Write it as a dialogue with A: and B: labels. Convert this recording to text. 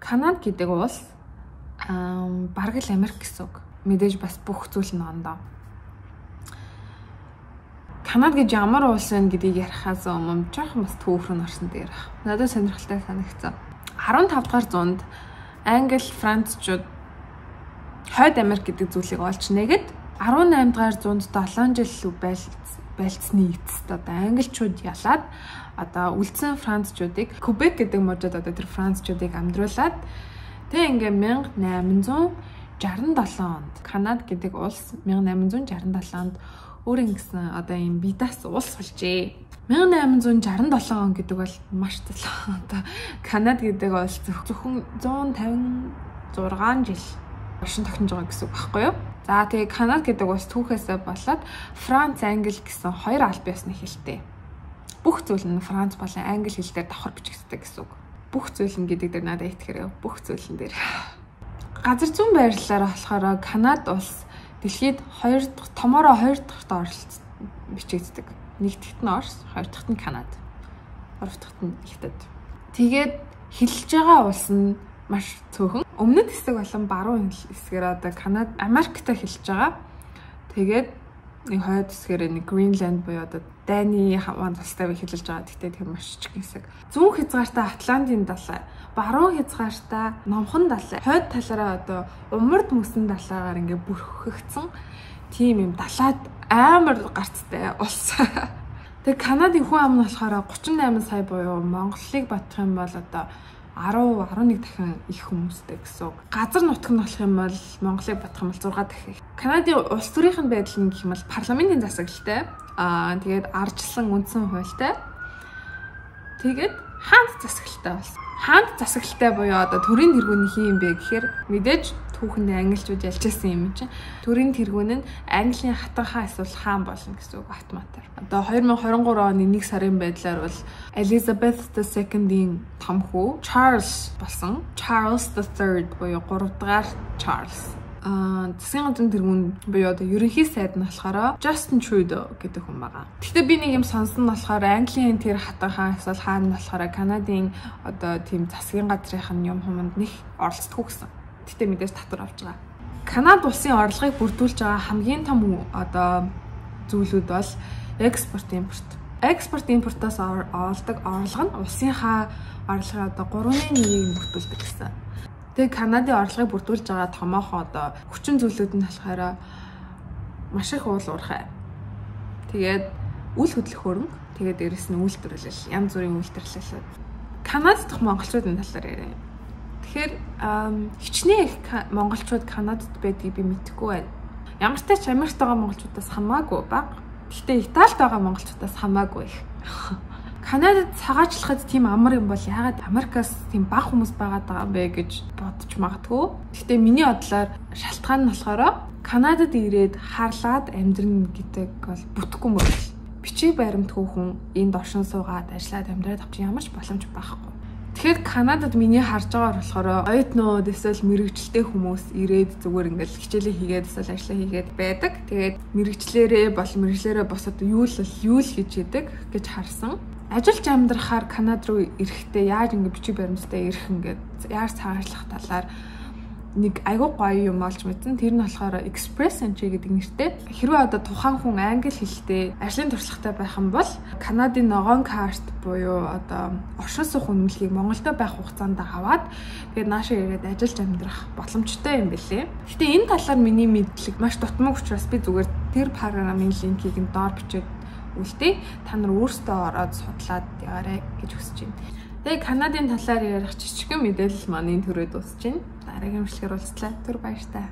A: Канада гэдэг улс бараг л Америк гэсэн үг. Мэдээж бас бүх зүйл нь ондоо. Канада гэж ямар улс вэ гэдгийг ярихаас өмнө жоохон бас түүхэн орсон дээр баг. Надад сонирхолтой санагдсан. 15 дугаар зуунд Англи, Францчууд хойд Америк гэдэг зүйлийг олж нэгэд 18 дугаар зуунд 7 жил байлцсны эцэст одоо англичууд ялаад одоо үлдсэн францчуудыг Кубек гэдэг мужид одоо тэр францчуудыг амдруулаад тэг ингээ 1867 онд Канада гэдэг улс 1867 онд өөр ингэсэн одоо юм бидас улс болжээ. 1867 он гэдэг бол маш талаа. Одоо Канада гэдэг улс зөвхөн 156 жил оршин тогтнож байгаа гэсэн үг байхгүй юу? За тэгээ Канада гэдэг улс түүхээсээ болоод Франц, Англи гэсэн хоёр албан ёсны хэлтэй. Бүх зүйл нь Франц болон Англи хэлээр давхар бичигддэг гэсэн үг. Бүх зүйл нь гэдэг дээр надад итгэхэрэг бүх зүйлэн дээр. Газар зүйн байрлалаар болохоор Канада улс дэлхийд 2 дахь томороо 2 дахьт оролцсон бичигддэг. 1 дахьт нь Орос, 2 дахьт нь Канада, 3 дахьт нь Хятад. Тэгээд хэлж байгаа улс нь маш цөөхөн. Өмнөд хэсэг болон баруун хэсгээр одоо Канада, Америктэй хэлж байгаа. Тэгээд нэг хойд хэсгээр нэг Гринланд буюу одоо Дайны хаваанд тустай хэлж байгаа. Гэхдээ тэр маш жижиг хэсэг. Зүүн хязгаартаа Атлантын далай, баруун хязгаартаа Номхон далай, хойд талаараа одоо Умард мөсөн далайгаар ингээ бүрхэгдсэн тийм юм далайд амар гарцтай улс. Тэгээ Канадын хүн ам нь болохоор 38 сая буюу Монголыг батлах юм бол одоо 10-11 дахин их хүмүүстэй гэсэн үг. Газар нутаг нь болох юм бол Монголыг батлах юм бол 6 дахин. Канадын улс төрийн байдал нь гэх юм бол парламентын засаглалтай. Тэгээд ардчлан үндсэн хуультай. Тэгээд хаант засаглалтай болсон. Хаант засаглалтай буюу одоо төрийн тэргүүний хин юм бэ гэхээр мэдээж түүхэнд англичууд ялчсан юм чинь. Төрийн тэргүүн нь Английн хатан хаан эсвэл хаан болно гэсэн үг автоматар. Одоо 2023 оны 1 сарын байдлаар бол Elizabeth II-ийн том хүү Charles болсон. Charles III буюу 3 дахь Charles. Засгийн газрын тэргүүн буюу одоо ерөнхий сайд нь болохоор Justin Trudeau гэдэг хүн байгаа. Гэхдээ би нэг юм сонсон нь болохоор Английн тэр хатан хаан эсвэл хаан нь болохоор Канадын одоо тийм засгийн газрын юм хүмэнд нэг оролцдог гэсэн. Гэхдээ мэдээж татвар авч байгаа. Канада улсын орлогыг бүрдүүлж байгаа хамгийн том одоо зүйлүүд бол экспорт импорт. Экспорт импортоос олдог орлого нь улсынхаа орлогын одоо 3.1-ийг бүрдүүлдэг гэсэн. Тэгээ Канадын орлогыг бүрдүүлж байгаа томоохон одоо хүчин зүйлүүд нь болохоор маш их уул уурхай. Тэгээд үл хөдлөх хөрөнгө, тэгээд дээрэс нь үйлдвэрлэл, янз бүрийн үйлдвэрлэл. Канадад дах монголчуудын талаар яриа. Тэгэхээр хичнээн их монголчууд Канадад байдгийг би мэдэхгүй байна. Ямар ч тач Америкт байгаа монголчуудаас хамаагүй бага. Гэхдээ Италид байгаа монголчуудаас хамаагүй их. Канадад цагаачлахад тийм амар юм бол яагаад Америкаас тийм бага хүмүүс байгаад байгаа юм бэ гэж бодож магадгүй. Гэхдээ миний бодлоор шалтгаан нь болохоор Канадад ирээд харлаад амьдрын гэдэг бол бүтэхгүй мөрөл. Бичиг баримтгүй хүн энд оршин суугаад ажиллаад амьдраад авчих ямар ч боломж байхгүй. Тэгэхээр Канадад миний харж байгаагаар болохоор оюутнууд эсвэл мэрэгчлээ хүмүүс ирээд зүгээр ингээл хичээлээ хийгээд эсвэл ажлаа хийгээд байдаг. Тэгээд мэрэгчлэрээ босоод юу л хийж идэг гэж харсан. Ажиллаж амьдрахаар Канада руу ирэхдээ яаж ингэ бичиг баримттай ирэх ингээд яаж цагаачлах талаар нэг айгуу гоё юм олж мэдсэн. Тэр нь болохоор express entry гэдэг нэртэй. Хэрвээ одоо тухайн хүн англи хэлтэй ажлын туршлагатай байх юм бол Канадын ногоон карт буюу одоо оршин суух үнэмлэхийг Монголдо байх хугацаанд аваад тэгээд наашаа ирээд ажиллаж амьдрах боломжтой юм бэлээ. Гэтэ энэ талаар миний мэдлэг маш дутмаг учраас би зүгээр тэр програмын линкийг нь доор бичээд үлдээ. Та нар өөрсдөө ороод судлаад яваарай гэж хүсэж байна. Тэгээ Канадын талаар ярих жижигхэн мэдээлэл маань энэ төрөд дуусж байна. Дараагийн бичлэгээр уулзлаа. Түр баярлалаа.